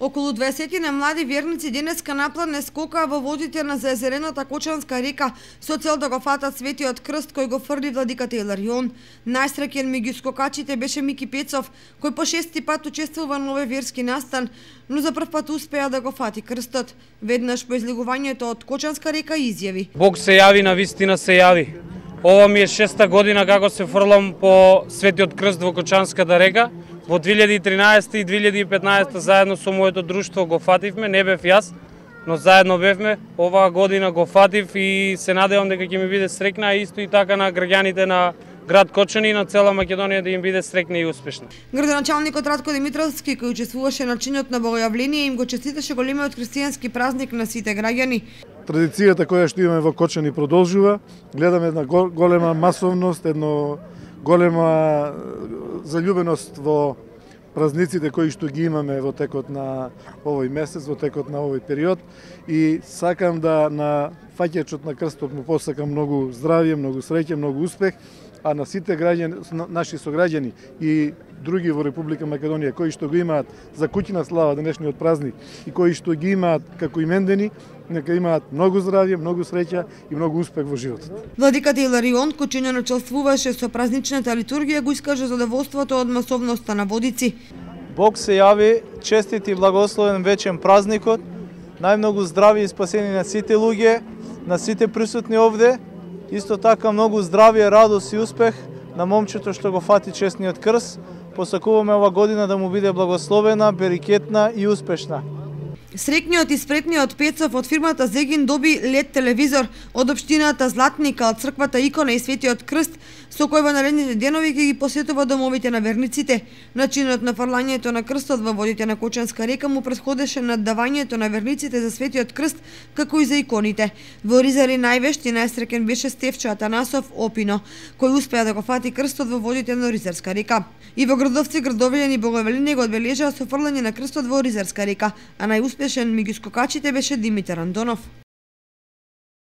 Околу 20 на млади верници денеска напладне скокаа во водите на заезерената Кочанска река со цел да го фатат Светиот крст кој го фрли владиката Иларион. Најсреќен меѓу скокачите беше Мики Пецов, кој по 6-ти пат учествува на овој верски настан, но за прв пат успеа да го фати крстот. Веднаш по излегувањето од Кочанска река изјави: Бог се јави, на вистина се јави. Ова ми е 6-та година како се фрлам по Светиот крст во Кочанската река. Во 2013 и 2015 заедно со моето друштво го фативме, не бев јас, но заедно бевме. Оваа година го фатив и се надевам дека ќе ми биде среќна, а исто и така на граѓаните на град Кочани и на цела Македонија да им биде среќна и успешна. Градоначалникот Радко Димитровски, кој учествуваше на чинот на богојавление, им го честиташе големиот христијански празник на сите граѓани. Традицијата која што имаме во Кочани продолжува. Гледаме една голема масовност, едно голема заљубеност во празниците кои што ги имаме во текот на овој месец, во текот на овој период, и сакам да на фаќачот на крстот му посакам многу здравје, многу среќа, многу успех, а на сите граѓани, наши сограѓани и други во Република Македонија кои што го имаат за куќна слава денешниот празник и кои што ги имаат како имендени, нека имаат многу здравје, многу среќа и многу успех во животот. Владиката Иларион, кој чинно начелствуваше со празничната литургија, го искаже задоволството од масовноста на водици. Бог се јави, честит и благословен вечен празникот, најмногу здрави и спасени на сите луѓе, на сите присутни овде, исто така многу здравје, радост и успех на момчето што го фати честниот крст. Посакуваме ова година да му биде благословена, берикетна и успешна. Среќниот и спретниот Пецов од фирмата Зегин доби LED телевизор од општината Златника, од црквата Икона и Светиот крст, со кој во наредните денови ќе ги посетува домовите на верниците. Начинот на фрлањето на крстот во водите на Кочанска река му претходеше наддавањето на верниците за Светиот крст, како и за иконите. Во Ризари највешт и најсреќен беше Стефчо Атанасов Опино, кој успеа да го фати крстот во водите на Ризарска река. И во Градовци, Градовилјан и Богојавление го одбележаа со фрлање на крстот во Ризарска река, а најуспешен меѓу скокачите беше Димитар Андонов.